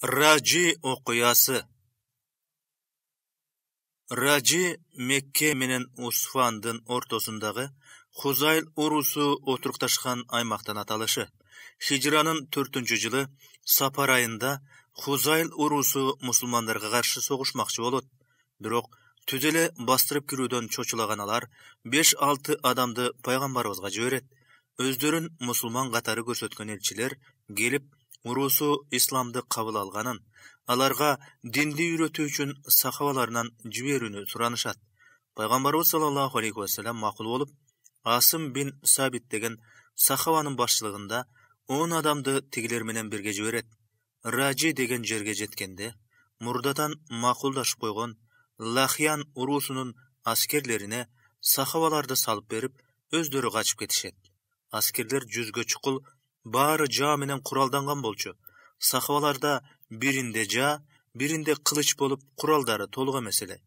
Ражи окуясы. Ражи Мекке менен Усфандын ортосундагы Хузайл урусу отурукташкан аймактан аталышы. Хижранын 4-жылы Сапар айында Хузайл урусу мусулмандарга каршы согушмакчы болот. Бирок түз эле бастырып кирүүдөн чочулаган алар 5-6 адамды пайгамбарыбызга жиберет. Өздөрүн мусулман катары көрсөткөн элчилер келип урусу исламды кабыл алганын, аларга динди үйрөтүү үчүн сахабаларынан жиберүүнү суранышат. Пайгамбарыбыз саллаллаху алейхи ва саллям макул болуп, Асым бин Сабит деген сахабанын башчылыгында 10 адамды тигилер менен бирге жиберет. Ражи деген жерге жеткенде, мурдадан макулдашып койгон Лахиян урусунун аскерлерине сахабаларды салып берип, өздөрү качып кетишет. Аскерлер жүзгө чукул, баары жаа менен куралданган болчу. Сахабаларда биринде жаа, биринде кылыч болуп, куралдары толук эмес эле.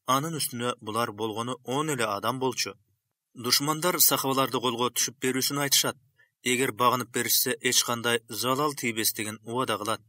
Анын үстүнө булар болгону 10 эле адам болчу. Душмандар сахабаларды колго түшүп берүүсүн айтышат. Эгер багынып беришсе, эч кандай залал тийбес деген убада кылат.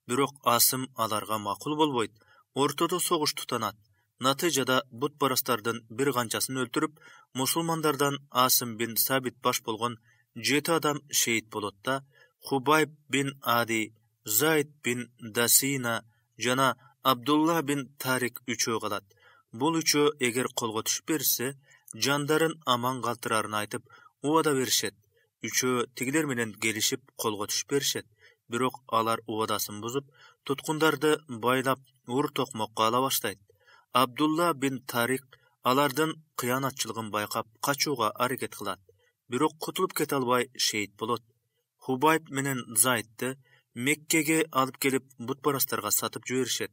Бирок Асым аларга макул болбойт. Ортодо согуш тутанат. Натыйжада бутпарастардын бир канчасын өлтүрүп, мусулмандардан Асым бин Сабит баш болгон 7 адам шейит болот да, Хубайб бин Ади, Зайд бин Дасина жана Абдулла бин Тарик үчөө калат. Бул үчөө эгер колго түшүп беришсе, жандарын аман калтырарын айтып, убада беришет. Үчөө тигилер менен келишип колго түшүп беришет. Бирок алар убадасын бузуп, туткундарды байлап ур-токмокко ала баштайт. Абдулла бин Тарик алардын кыянатчылыгын байкап качууга аракет кылат. Бирок кутулуп кете албай шейит болот. Хубайб менен Зайдты Меккеге алып келип бутпарастарга сатып жиберишет.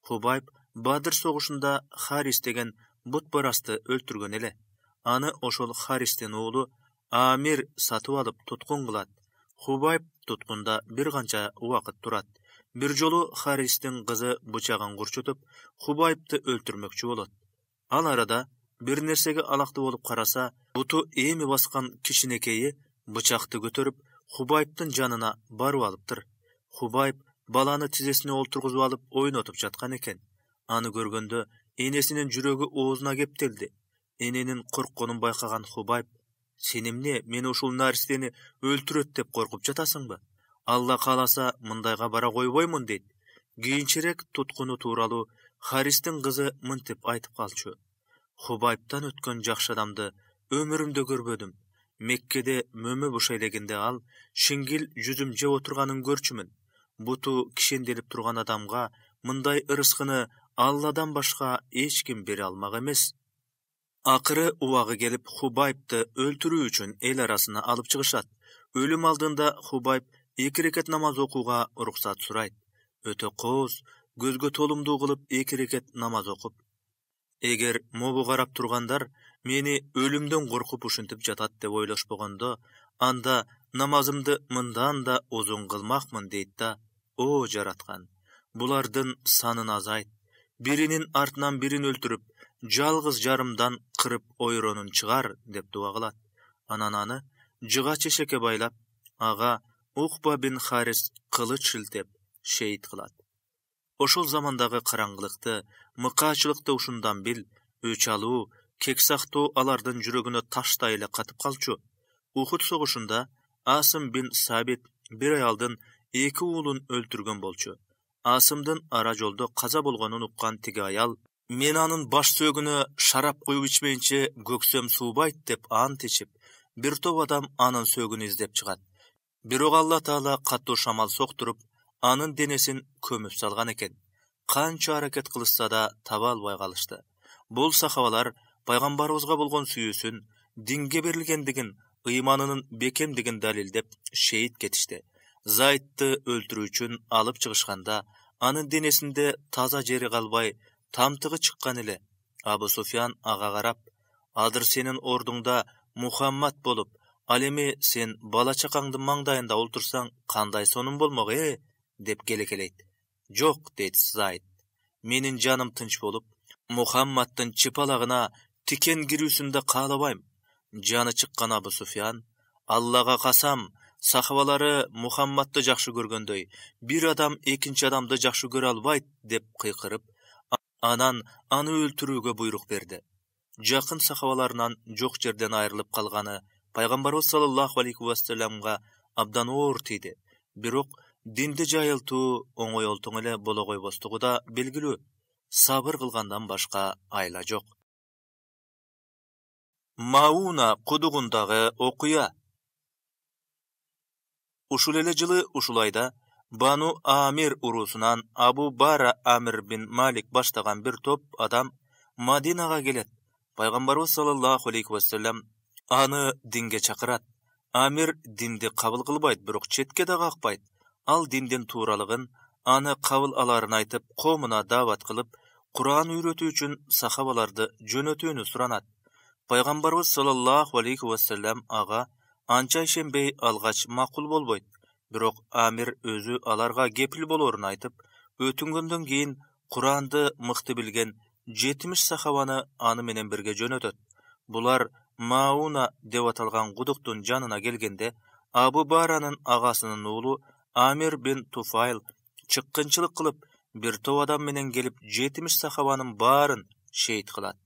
Хубайб Бадыр согушунда Харис деген бутпарасты өлтүргөн эле. Аны ошол Харистин уулу Амир сатып алып туткун кылат. Хубайб туткунда бир канча убакыт турат. Бир жолу Харистин кызы бычагын курчутуп, Хубайбты өлтүрмөкчү болот. Ал арада бир нерсеге алакты болуп караса, буту эми баскан кичинекейи бычакты көтөрүп, Хубайбтын жанына барып алыптыр. Хубайб баланы тизесине олтургузуп алып ойнотуп жаткан экен. Аны көргөндө энесинин жүрөгү оозуна кептелди. Эненин коркконун байкаган Хубайб: "Сен эмне мени ушул наристени өлтүрөт деп коркуп жатасыңбы? Алла кааласа мындайга бара койбоймун" дейт. Кийинчерээк туткуну тууралуу Харистин кызы мынтип айтып калчу: "Хубайбтан өткөн жакшы адамды өмүрүмдө көрбөдүм. Меккеде мөмө бошой элегенде ал шингил жүзүм жеп отурганын көрчүмүн. Буту кишенделип турган адамга мындай ырыскыны Алладан башка эч ким бере алмак эмес." Акыры убагы келип, Хубайбты өлтүрүү үчүн эл арасына алып чыгышат. Өлүм алдында Хубайб 2 рекет намаз окууга уруксат сурайт. Өтө кооз, көзгө толумдуу кылып 2 рекет намаз окуп: "Эгер могу карап тургандар мени өлүмдөн коркуп ушинтип жатат деп ойлошпогондо, анда намазымды мындан да узун кылмакмын" дейт да: "О жараткан, булардын санын азайт. Биринин артынан бирин өлтүрүп, жалгыз жарымдан кырып ойронун чыгар" деп дуа кылат. Анан аны жыга чешекке байлап, ага Ухба бин Харис кылыч шилтеп шейит кылат. Ошол замандагы караңгылыкты, мыкаачылыкты ушундан бил, өч алуу, кексактоо алардын жүрөгүнө таштай эле катып калчу. Ухуд согушунда Асым бин Сабит бир аялдын 2 уулун өлтүргөн болчу. Асымдын ара жолдо каза болгонун уккан тиги аял: "Мен анын баш сөөгүнө шарап куюп ичмейинче көксөм суубайт" деп ант ичип, бир топ адам анын сөөгүн издеп чыгат. Бирок Алла Таала катуу шамал соктуруп, анын денесин көмүп салган экен. Канча аракет кылышса да таба албай калышты. Бул сахабалар пайгамбарыбызга болгон сүйүүсүн, динге берилгендигин, ыйманынын бекемдигин далилдеп шейит кетишти. Зайдты өлтүрүү үчүн алып чыгышканда, анын денесинде таза жери калбай, тамтыгы чыккан эле. Абу Суфян ага карап: "Азыр сенин ордуңда Мухаммад болуп, ал эми сен бала чакаңдын маңдайында олтурсаң, кандай сонун болмок деп келекелейт. "Жок" дейт Зайд. "Менин жаным тынч болуп, Мухаммаддын чыпалагына тикен кирүүсүн да каалабайм." Жаны чыккан Абу Суфян: "Аллага касам, Сахабалары Мухаммадты жакшы көргөндөй, бир адам экинчи адамды жакшы көрө албайт деп кыйкырып, анан аны өлтүрүүгө буйрук берди. Жакын сахабаларынан жок жерден айрылып калганы пайгамбарыбыз саллаллаху алейхи вассаламга абдан оор тийди. Бирок динди жайылтуу оңой олтоң эле боло койбостугу да белгилүү. Сабыр кылгандан башка айла жок. Мауна кудугундагы окуя. Ушул эле жылы ушул айда Бану Амир урусунан Абу Бара Амир бин Малик баштаган бир топ адам Мадинага келет. Пайгамбарыбыз саллаллаху алейхи вассалам аны динге чакырат. Амир динди кабыл кылбайт, бирок четке да какпайт. Ал диндин тууралыгын, аны кабыл аларын айтып, коомуна даават кылып, Кур'ан үйрөтүү үчүн сахабаларды жөнөтүүнү суранат. Пайгамбарыбыз саллаллаху алейхи вассалам ага анча ишенбей алгач макул болбойт. Бирок Амир өзү аларга кепил болорун айтып, өтүнгөндөн кийин Куранды мыкты билген 70 сахабаны аны менен бирге жөнөтөт. Булар Мауна деп аталган кудуктун жанына келгенде, Абу Баранын агасынын уулу Амир бин Туфайл чыккынчылык кылып, бир топ адам менен келип 70 сахабанын баарын шейит кылат.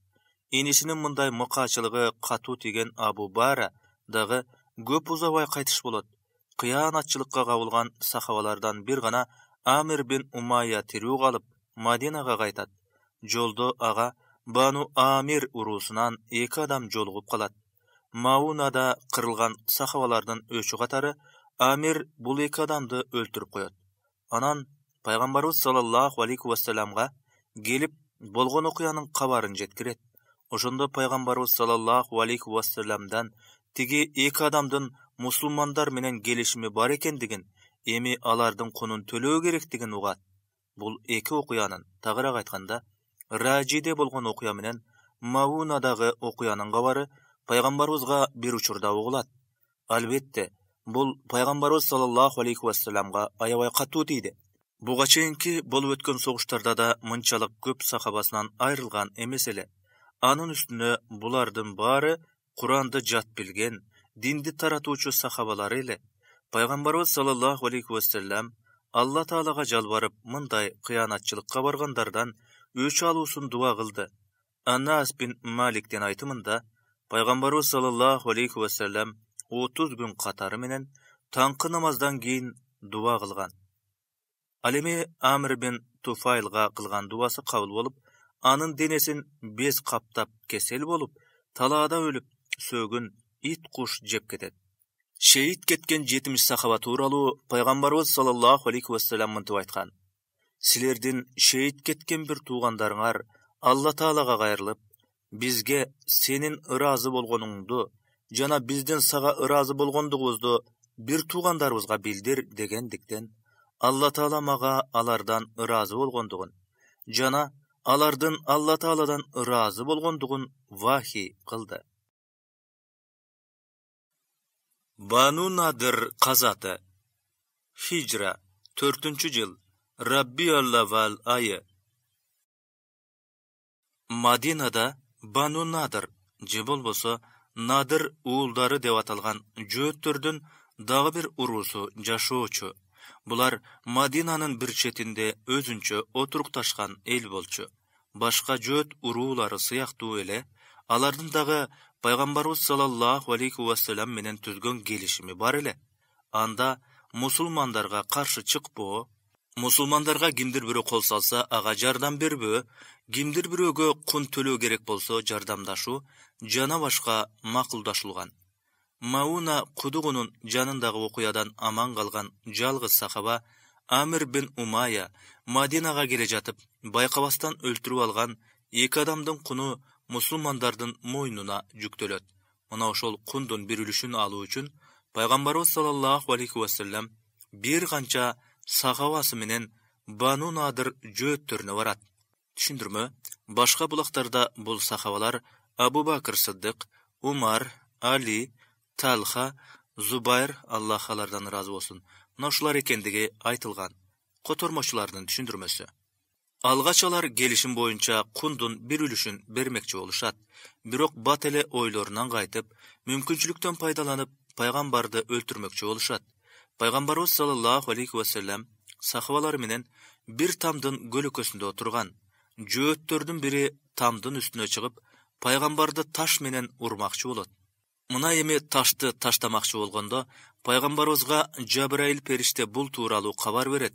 Инисинин мындай мыкаачылыгы катуу тийген Абу Бара дагы көп узабай кайтыш болот. Кыянатчылыкка кабылган сахабалардан бир гана Амир бин Умайя тирүү калып, Мадинага кайтат. Жолдо ага Бану Амир урусунан 2 адам жолугуп калат. Маунада кырылган сахабалардын өчү катары Амир бул 2 адамды өлтүрүп коет. Анан пайгамбарыбыз саллаллаху алейхи вассаламга келип болгон окуянын кабарын жеткирет. Ошондо пайгамбарыбыз саллаллаху алейхи вассаламдан тиги 2 адамдын мусулмандар менен келишими бар экендигин, эми алардын кунун төлөө керектигин угат. Бул 2 окуянын, тагыраак айтканда, Ражиде болгон окуя менен Маунадагы окуянын кабары пайгамбарыбызга бир учурда угулат. Албетте, бул пайгамбарыбыз саллаллаху алейхи вассаламга аябай катуу тийди. Буга чейинки болуп өткөн согуштарда да мынчалык көп сахабасынан айрылган эмес эле. Анын үстүнө булардын баары Куранды жат билген, динди таратуучу сахабалар эле. Пайгамбарыбыз саллаллаху алейхи вассалам Алла Таалага жалбарып, мындай кыянатчылыкка баргандардан өч алуусун дуа кылды. Анас бин Маликтин айтымында, пайгамбарыбыз саллаллаху алейхи вассалам 30 күн катары менен таңкы намаздан кийин дуа кылган. Ал эми Амир бин Туфайлга кылган дуасы кабыл болуп, анын денесин без каптап кесел болуп, талаада өлүп, сөөгүн ит куш жеп кетет. Шейит кеткен 70 сахаба тууралуу пайгамбарыбыз саллаллаху алейхи вассалам мынтип айткан: Силердин шейит кеткен бир туугандарыңар Алла Таалага кайрылып, бизге сенин ыраазы болгонуңду жана биздин сага ыраазы болгондугубузду бир туугандарыбызга билдир дегендиктен, Алла Таала мага алардан ыраазы болгондугун жана алардын Алла Тааладан ыраазы болгондугун вахий кылды. Бану Надыр казаты. Хижра 4-жыл. Рабби-ал-Аввал айы. Мадинада Бану Надыр же болбосо Надыр уулдары деп аталган жөөттөрдүн дагы бир урусу жашоочу. Булар Мадинанын бир четинде өзүнчө отурукташкан эл болчу. Башка жөөт уруулары сыяктуу эле, алардын дагы пайгамбарыбыз саллаллаху алейхи вассалам менен түзгөн келишими бар эле. Анда мусулмандарга каршы чыкпоо, мусулмандарга кимдир бирөө кол салса ага жардам бербөө, кимдир бирөөгө кун төлөө керек болсо жардамдашуу жана башка макулдашылган. Мауна кудугунун жанындагы окуядан аман калган жалгыз сахаба Амир бин Умайя Мадинага келе жатып, байкабастан өлтүрүп алган 2 адамдын куну мусулмандардын мойнуна жүктөлөт. Мына ошол кундун бир үлүшүн алуу үчүн пайгамбарыбыз саллаллаху алейхи вассалам бир канча сахабасы менен Бану Надыр жөөттөрүнө барат. Түшүндүрмө: башка булактарда бул сахабалар Абу Бакыр Сыддык, Умар, Али, Талха, Зубайр, Аллах алардан ыраазы болсун, мына ушулар экендиги айтылган. Котормочулардын түшүндүрмөсү. Алгач алар келишим боюнча кундун бир үлүшүн бермекчи болушат. Бирок бат эле ойлорунан кайтып, мүмкүнчүлүктөн пайдаланып, пайгамбарды өлтүрмөкчү болушат. Пайгамбарыбыз саллаллаху алейхи вассалам сахабалар менен бир тамдын көлөкөсүндө отурган. Жөөттөрдүн бири тамдын үстүнө чыгып, пайгамбарды таш менен урмакчы болот. Мына эми ташты таштамакчы болгондо, пайгамбарыбызга Жабраил периште бул тууралуу кабар берет.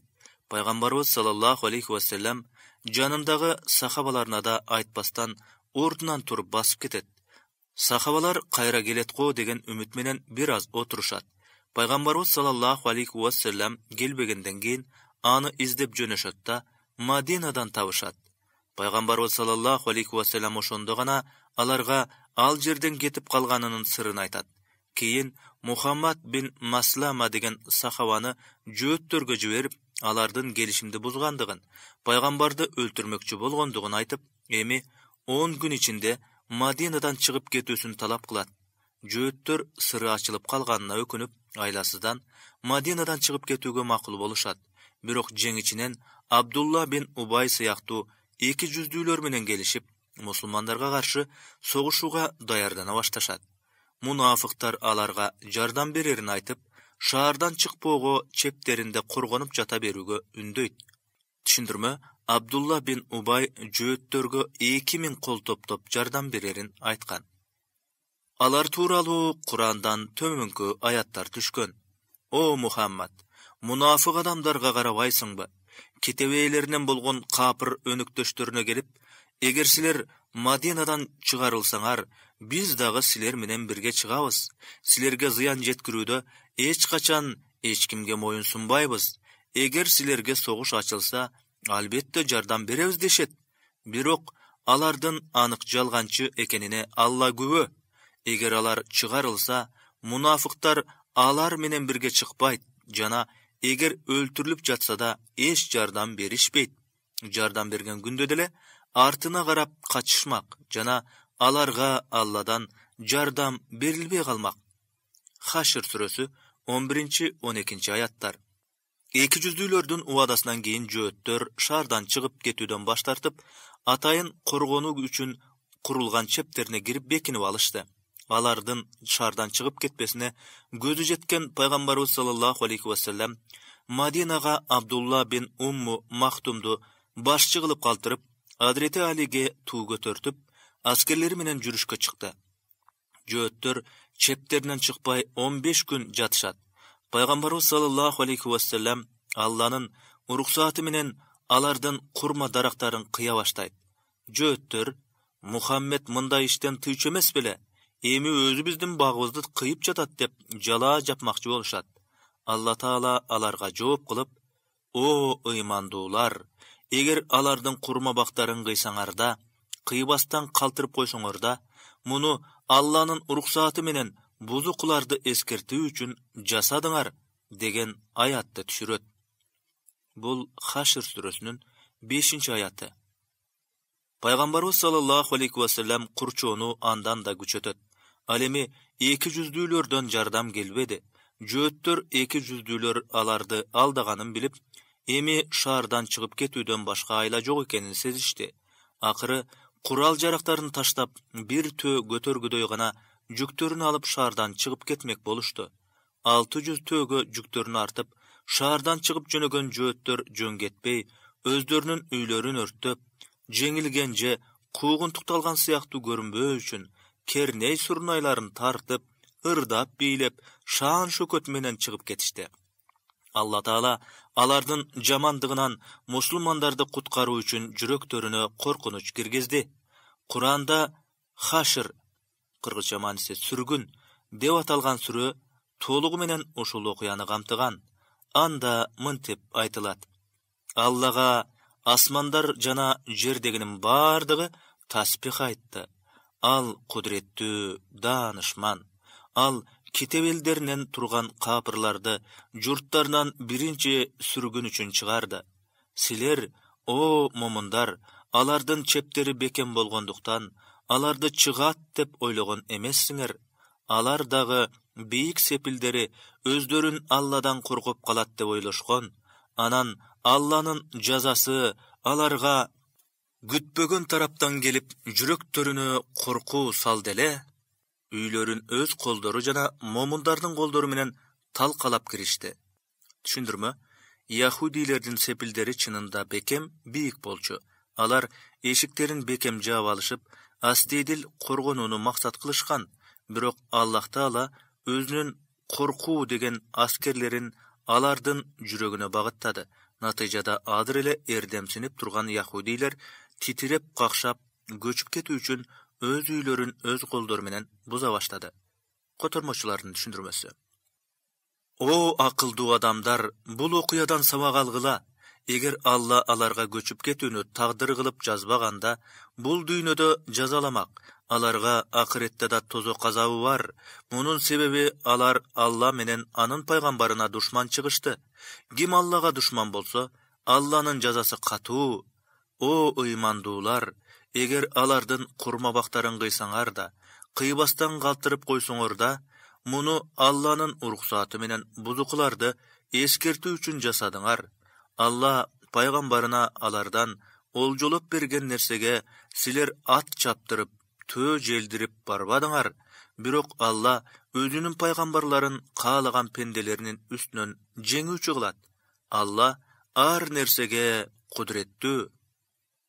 Пайгамбарыбыз саллаллаху алейхи вассалам жанындагы сахабаларына да айтпастан ордунан туруп басып кетет. Сахабалар кайра келет го деген үмүт менен бир аз отурушат. Пайгамбарыбыз саллаллаху алейхи вассалам келбегенден кийин аны издеп жөнөшөт да Мадинадан табышат. Пайгамбарыбыз саллаллаху алейхи вассалам ошондо гана аларга ал жерден кетип калганынын сырын айтат. Кийин Мухаммад бин Маслама деген сахабаны жөөттөргө жиберип, алардын келишимди бузгандыгын, пайгамбарды өлтүрмөкчү болгондугун айтып, эми 10 күн ичинде Мадинадан чыгып кетүүсүн талап кылат. Жөөттөр сыры ачылып калганына өкүнүп, айласыздан Мадинадан чыгып кетүүгө макул болушат. Бирок жеңичинен Абдулла бин Убай сыяктуу эки жүздүүлөр менен келишип, мусулмандарга каршы согушууга даярдана башташат. Мунафыктар аларга жардам берерин айтып, шаардан чыкпоого чептеринде коргонуп жата берүүгө үндөйт. Түшүндүрмө: Абдулла бин Убай жөөттөргө 2000 кол топтоп жардам берерин айткан. Алар тууралуу Курандан төмөнкү аяттар түшкөн. О Мухаммад, мунафык адамдарга карабайсыңбы? Кетебейлеринен болгон капыр өнүктөштөрүнө келип, эгер силер Мадинадан чыгарылсаңар, биз дагы силер менен бирге чыгабыз. Силерге зыян жеткирүүдө эч качан эч кимге моюн сунбайбыз. Эгер силерге согуш ачылса, албетте жардам беребиз дешет. Бирок алардын анык жалганчы экенине Алла күбө. Эгер алар чыгарылса, мунафыктар алар менен бирге чыкпайт жана эгер өлтүрүлүп жатса да эч жардам беришпейт. Жардам берген күндө деле артына карап качышмак жана аларга Алладан жардам берилбей калмак. Хашр сүрөсү 11-12 аяттар. Эки жүздүүлөрдүн убадасынан кийин жөөттөр шаардан чыгып кетүүдөн баш тартып, атайын коргонуу үчүн курулган чептерине кирип бекинип алышты. Алардын шаардан чыгып кетпесине көзү жеткен пайгамбарыбыз саллаллаху алейхи вассалам Мадинага Абдулла бин Умму Махтумду башчы кылып калтырып, Азирети Алиге туу көтөртүп, аскерлери менен жүрүшкө чыкты. Жөөттөр чептеринен чыкпай 15 күн жатышат. Пайгамбарыбыз саллаллаху алейхи вассалам Алланын уруксаты менен алардын курма дарактарын кыя баштайт. Жөөттөр: Мухаммед мындай иштен тыйчу эмес беле? Эми өзү биздин багыбызды кыйып жатат деп жала жапмакчы болушат. Алла Таала аларга жооп кылып: О ыймандуулар, эгер алардын курма бактарын кыйсаңар да, кыйбастан калтырып койсоңор да, муну Алланын уруксаты менен бузукуларды эскертүү үчүн жасадыңар деген аятты түшүрөт. Бул Хашр сүрөсүнүн 5-аяты. Пайгамбарыбыз саллаллаху алейхи вассалам курчоону андан да күчөтөт. Ал эми эки жүздүүлөрдөн жардам келбеди. Жөөттөр эки жүздүүлөр аларды алдаганын билип, эми шаардан чыгып кетүүдөн башка айла жок экенин сезишти. Акыры курал-жарактарын таштап, бир төө көтөргүдөй гана жүктөрүн алып шаардан чыгып кетмек болушту. 600 төөгө жүктөрүн артып, шаардан чыгып жөнөгөн жөөттөр жөн кетпей, өздөрүнүн үйлөрүн өрттөп, жеңилген же куугунтукталган сыяктуу көрүнбөө үчүн керней сурнайларын тартып, ырдап бийлеп, шаан шөкөт менен чыгып кетишти. Алла Таала алардын жамандыгынан мусулмандарды куткаруу үчүн жүрөктөрүнө коркунуч киргизди. Куранда Хашр, кыргызча мааниси сүргүн деп аталган сүрө толугу менен ушул окуяны камтыган. Анда мынтип айтылат: Аллага асмандар жана жердегинин бардыгы таспих айтты. Ал кудуреттүү, даанышман. Ал китеп элдеринен турган капырларды журттарынан биринчи сүргүн үчүн чыгарды. Силер, о момундар, алардын чептери бекем болгондуктан, аларды чыгат деп ойлогон эмессиңер. Алар дагы бийик сепилдери өздөрүн Алладан коргоп калат деп ойлошкон. Анан Алланын жазасы аларга күтпөгөн тараптан келип, жүрөктөрүнө коркуу салды эле. үйлөрүн өз колдору жана момундардын колдору менен талкалап киришти. Түшүндүрмө? Яхудилердин сепилдери чынында бекем бийик болчу. Алар эшиктерин бекем жаап алышып, астедил коргонууну максат кылышкан. Бирок Аллах Таала өзүнүн коркуу деген аскерлерин алардын жүрөгүнө багыттады. Натыйжада азыр эле эрдемсинип турган яхудилер титиреп какшап көчүп кетүү үчүн өз үйлөрүн өз колдору менен буза баштады. Котормочулардын түшүндүрмөсү. О акылдуу адамдар, бул окуядан сабак алгыла. Эгер Алла аларга көчүп кетүүнү тагдыр кылып жазбаганда, бул дүйнөдө жазаламак. Аларга акыретте да тозок азабы бар. Мунун себеби алар Алла менен анын пайгамбарына душман чыгышты. Ким Аллага душман болсо, Алланын жазасы катуу. О ыймандуулар, эгер алардын курмабактарын кыйсаңар да, кыйбастан калтырып койсоңор да, муну Алланын уруксаты менен бузукуларды эскертүү үчүн жасадыңар. Алла пайгамбарына алардан олжолоп берген нерсеге силер ат чаптырып, төө желдирип барбадыңар. Бирок Алла өзүнүн пайгамбарларын каалаган пенделеринин үстүнөн жеңүүчү кылат. Алла ар нерсеге кудуреттүү.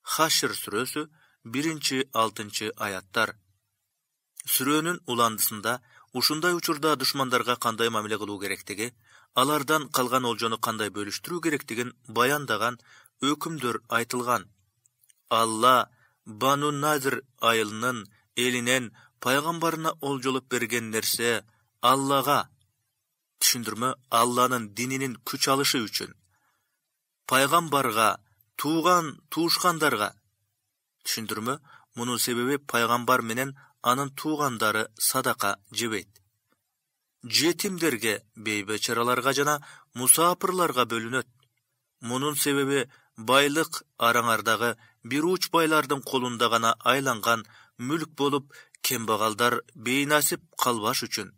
Хашр сүрөсү 1-6 аяттар. Сүрөнүн уландысында ушундай учурда душмандарга кандай мамиле кылуу керектиги, алардан калган олжону кандай бөлүштүрүү керектигин баяндаган өкүмдөр айтылган. Алла Бану Назир айылынын элинен пайгамбарына олжолоп берген нерсе Аллага, түшүндүрмө, Алланын дининин күч алышы үчүн, пайгамбарга, туушкандарга, түшүндүрмө, мунун себеби пайгамбар менен анын туугандары садака жебейт. Жетимдерге, бейбечараларга жана мусапырларга бөлүнөт. Мунун себеби байлык араңардагы бир уч байлардын колунда гана айланган мүлк болуп, кембагалдар бейнасип калбаш үчүн.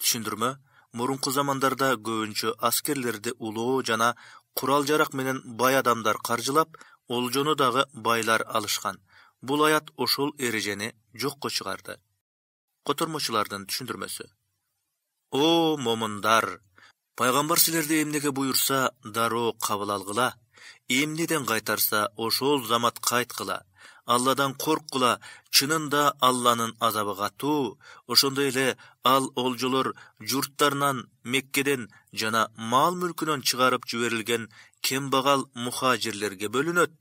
Түшүндүрмө, мурунку замандарда көбүнчө аскерлерди улоо жана курал-жарак менен бай адамдар каржылап, олжону дагы байлар алышкан. Бул аят ошол эрежени жокко чыгарды. Котормочулардын түшүндүрмөсү. О момундар, пайгамбар силерди эмнеге буйрса, дароо кабыл алгыла. Эмнеден кайтарса, ошол замат кайткыла. Алладан корккула, чынында Алланын азабы катуу. Ошондой эле ал олжолор журттарынан, Меккеден жана мал-мүлкүнөн чыгарып жиберилген кембагал мухажирлерге бөлүнөт.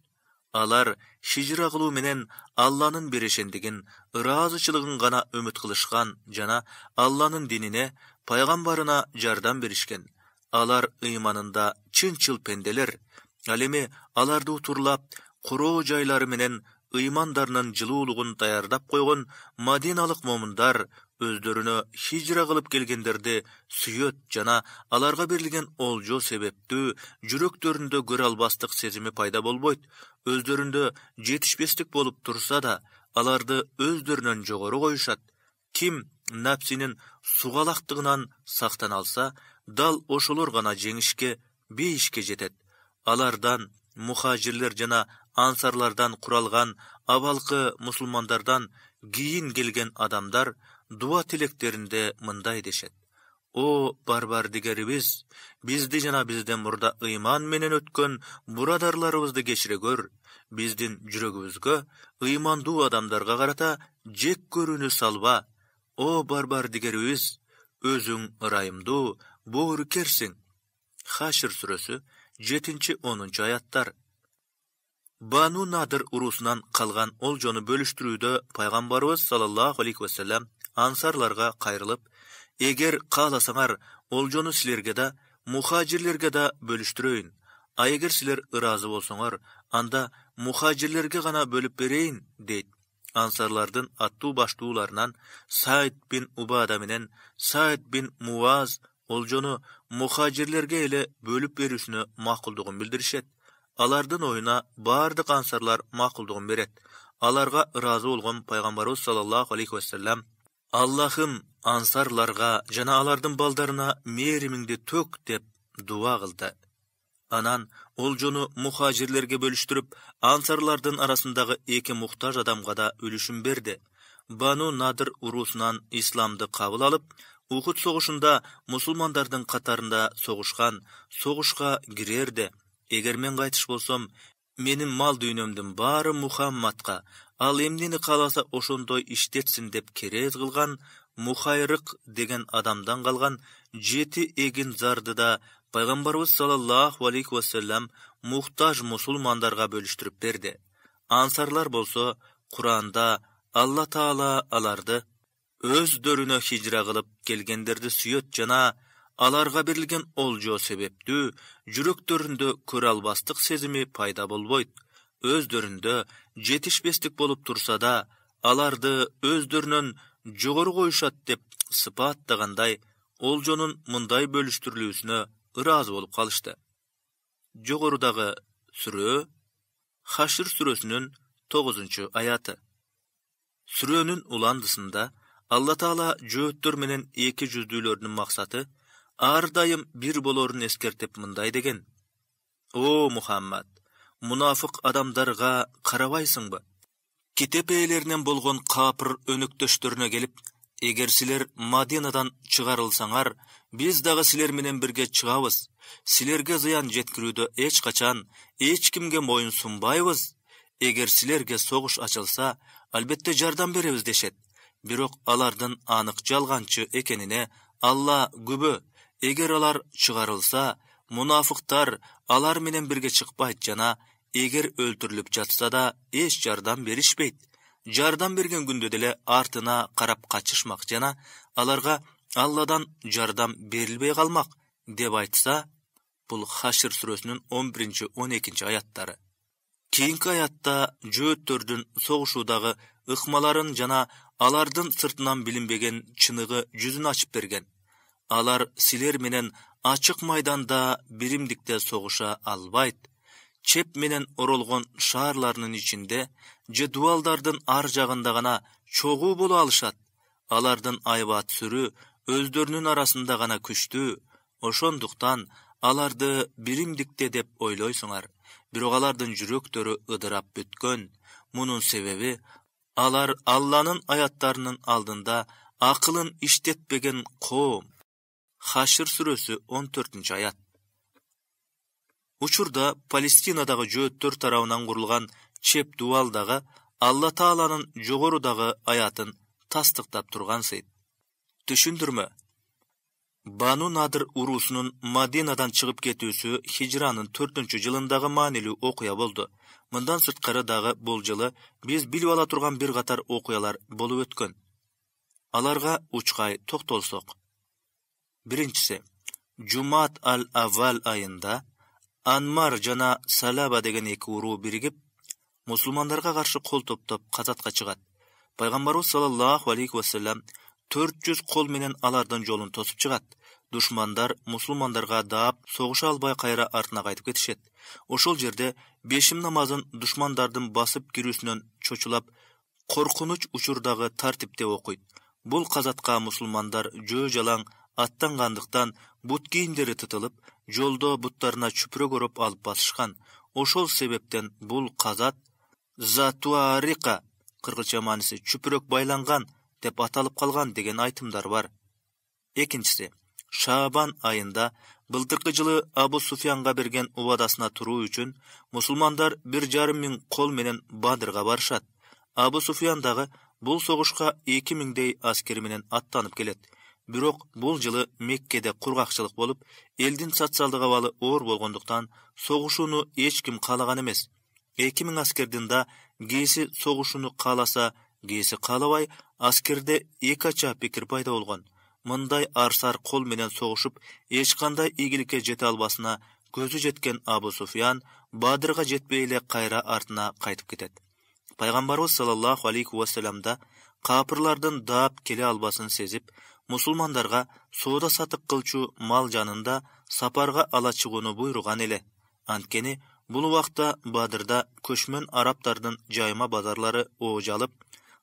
Алар хижра кылуу менен Алланын берешендигин, ыраазычылыгын гана үмүт кылышкан жана Алланын динине, пайгамбарына жардам беришкен. Алар ыйманында чынчыл пенделер. Ал эми аларды утурлап, короо жайлары менен ыймандарынын жылуулугун даярдап койгон мадиналык момундар өздөрүнө хижра кылып келгендерди сүйөт жана аларга берилген олжо себептүү жүрөктөрүндө көрө албастык сезими пайда болбойт. Өздөрүндө жетишпестик болуп турса да, аларды өздөрүнөн жогору коюшат. Ким напсинин сугалактыгынан сактана алса, дал ошолор гана жеңишке, бейишке жетет. Алардан, мухажирлер жана ансарлардан куралган абалкы мусулмандардан кийин келген адамдар дуа тилектеринде мындай дешет. О барбардигерибиз, бизди жана бизден мурда ыйман менен өткөн бурадарларыбызды кечире көр. Биздин жүрөгүбүзгө, ыймандуу адамдарга карата жек көрүүнү салба. О барбардигерибиз, өзүң ырайымдуу, боорукерсиң. Хашр сүрөсү 7-10 аяттар. Бану Надыр урусунан калган олжону бөлүштүрүүдө пайгамбарыбыз саллаллаху алейхи вассалам ансарларга кайрылып, эгер кааласаңар, олжону силерге да, мухажирлерге да бөлүштүрөйүн. А эгер силер ыраазы болсоңор, анда мухажирлерге гана бөлүп берейин, дейт. Ансарлардын аттуу баштууларынан Саид бин Убада менен Саид бин Муаз олжону мухажирлерге эле бөлүп берүүсүнө макулдугун билдиришет. Алардын оюна бардык ансарлар макулдугун берет. Аларга ыраазы болгон пайгамбарыбыз саллаллаху алейхи вассалам: Аллахым ансарларга жана алардын балдарына мээримиңди төк деп дуа кылды. Анан олжону мухажирлерге бөлүштүрүп, ансарлардын арасындагы эки муктаж адамга да үлүшүн берди. Бану Надыр урусунан исламды кабыл алып, Ухуд согушунда мусулмандардын катарында согушка кирерде. Эгер мен кайтыш болсом, менин мал дүйнөмдүн баары Мухаммадка, ал эмнени кааласа ошондой иштетсин деп керез кылган Мухайрык деген адамдан калган 7 эгин зарды да пайгамбарыбыз саллаллаху алейхи вассалам муктаж мусулмандарга бөлүштүрүп берди. Ансарлар болсо Куранда Алла Таала аларды өздөрүнө хижра кылып келгендерди сүйөт жана аларга берилген олжо себептүү жүрөктөрүндө көрө албастык сезими пайда болбойт. Өздөрүндө жетишпестик болуп турса да, аларды өздөрүнөн жогору коюшат деп сыпаттагандай олжонун мындай бөлүштүрүлүүсүнө ыраазы болуп калышты. Жогорудагы сүрө Хашр сүрөсүнүн 9-аяты. Сүрөнүн уландысында Алла Таала жөөттөр менен эки жүздүүлөрдүн максаты ар дайым бир болорун эскертип мындай деген: О Мухаммад, мунафык адамдарга карабайсыңбы? Китеп ээлеринен болгон капыр өнөктөштөрүнө келип, эгер силер Мадинадан чыгарылсаңар, биз дагы силер менен бирге чыгабыз. Силерге зыян жеткирүүдө эч качан эч кимге моюн сунбайбыз. Эгер силерге согуш ачылса, албетте жардам беребиз дешет. Бирок алардын анык жалганчы экенине Алла күбө. Эгер алар чыгарылса, мунафыктар алар менен бирге чыкпайт жана эгер өлтүрүлүп жатса да эч жардам беришпейт. Жардам берген күндө деле артына карап качышмак жана аларга Алладан жардам берилбей калмак деп айтса, бул Хашр сүрөсүнүн 11-12 аяттары. Кийинки аятта жөөттөрдүн согушуудагы ыкмаларын жана алардын сыртынан билинбеген чыныгы жүзүн ачып берген. Алар силер менен ачык майданда биримдикте согуша албайт. Чеп менен оролгон шаарларынын ичинде же дуалдардын ар жагында гана чогуу боло алышат. Алардын айбат сүрү өздөрүнүн арасында гана күчтүү. Ошондуктан аларды биримдикте деп ойлойсуңар. Бирок алардын жүрөктөрү ыдырап бүткөн. Мунун себеби алар Алланын аяттарынын алдында акылын иштетпеген коом. Хашр сүрөсү 14-аят. Учурда Палестинадагы жөөттөр тарабынан курулган чеп дуалдагы Алла Тааланын жогорудагы аятын тастыктап тургансыйт. Түшүндүрмө. Бану Надыр урусунун Мадинадан чыгып кетүүсү хижранын 4-жылындагы маанилүү окуя болду. Мындан сырткары дагы бул жылы биз билип ала турган бир катар окуялар болуп өткөн. Аларга учкай токтолсок. Биринчиси, Жумат ал-Аввал айында Анмар жана Салаба деген эки уруу биригип, мусулмандарга каршы кол топтоп казатка чыгат. Пайгамбарыбыз саллаллаху алейхи вассалам 400 кол менен алардын жолун тосуп чыгат. Душмандар мусулмандарга даап согуша албай кайра артына кайтып кетишет. Ошол жерде бешим намазын душмандардын басып кирүүсүнөн чочулап, коркунуч учурдагы тартипте окуйт. Бул казатка мусулмандар жөө жалаң аттангандыктан бут кийимдери тытылып, жолдо буттарына чүпүрөк ороп алып басышкан. Ошол себептен бул казат Затуарика, кыргызча мааниси чүпүрөк байланган деп аталып калган деген айтымдар бар. Экинчиси, Шаабан айында былтыркы жылы Абу Суфянга берген убадасына туруу үчүн мусулмандар 1,5 миң кол менен Бадрга барышат. Абу Суфян дагы бул согушка 2000дей аскери менен аттанып келет. Бирок бул жылы Меккеде кургакчылык болуп, элдин социалдык абалы оор болгондуктан согушууну эч ким каалаган эмес. 2000 аскердин да кээси согушууну кааласа, кээси каалабай, аскерде экача пикир пайда болгон. Мындай арсар кол менен согушуп, эч кандай ийгиликке жете албасына көзү жеткен Абу Суфян Бадрга жетпей эле кайра артына кайтып кетет. Пайгамбарыбыз саллаллаху алейхи вассаламда капырлардын даап келе албасын сезип, мусулмандарга соода сатык кылчу мал жанында сапарга ала чыгууну буйруган эле. Анткени бул убакта Бадрда көчмөн араптардын жайма базарлары оожалып,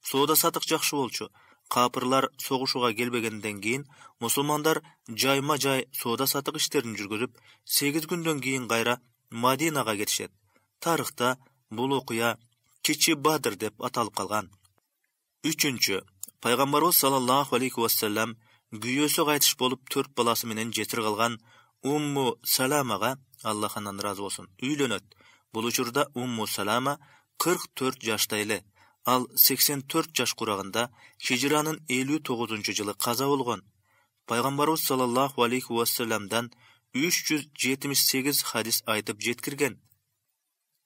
соода сатык жакшы болчу. Капырлар согушууга келбегенден кийин мусулмандар жайма жай соода сатык иштерин жүргүзүп, 8 күндөн кийин кайра Мадинага кетишет. Тарыхта бул окуя Кичи Бадр деп аталып калган. 3. Пайгамбарыбыз саллаллаху алейхи вассалам күйөөсү кайтыш болуп 4 баласы менен жетир калган Умму Саламага, Аллах андан ыраазы болсун, үйлөнөт. Бул учурда Умму Салама 44 жашта эле. Ал 84 жаш курагында Хижранын 59-жылы каза болгон. Пайгамбарыбыз саллаллаху алейхи вассаламдан 378 хадис айтып жеткирген.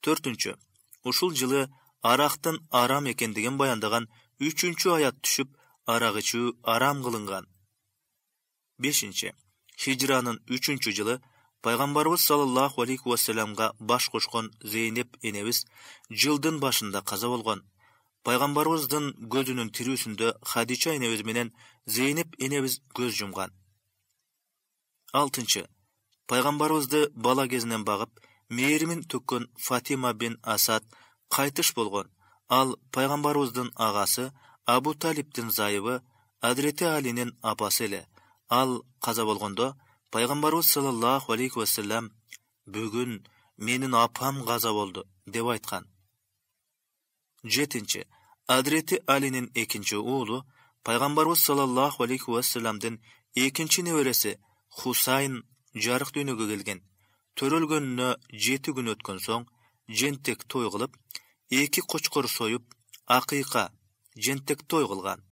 4. Ушул жылы арактын арам экендигин баяндаган 3-аят түшүп, арак ичүү арам кылынган. 5. Хижранын 3-жылы Пайгамбарыбыз саллаллаху алейхи вассаламга баш кошкон Зейнеп энебиз жылдын башында каза болгон. Пайгамбарыбыздын көзүнүн тирүүсүндө Хадича энебиз менен Зейнеп энебиз көз жумган. 6. Пайгамбарыбызды бала кезинен багып, мээримин төккөн Фатима бин Асад кайтыш болгон. Ал пайгамбарыбыздын агасы Абу Талиптин зайыбы Адрете Алинин апасы эле. Ал каза болгондо Пайгамбарыбыз саллаллаху алейхи вассалам бүгүн менин апам каза болду деп айткан. 7. Адрете Алинин экинчи уулу Пайгамбарыбыз саллаллаху алейхи вассаламдын экинчи небереси Хусайн жарык дүйнөгө келген. Төрөлгөнүнө 7 күн өткөн соң жентек той кылып, 2 кочкор союп, акыйка, жентек той кылган.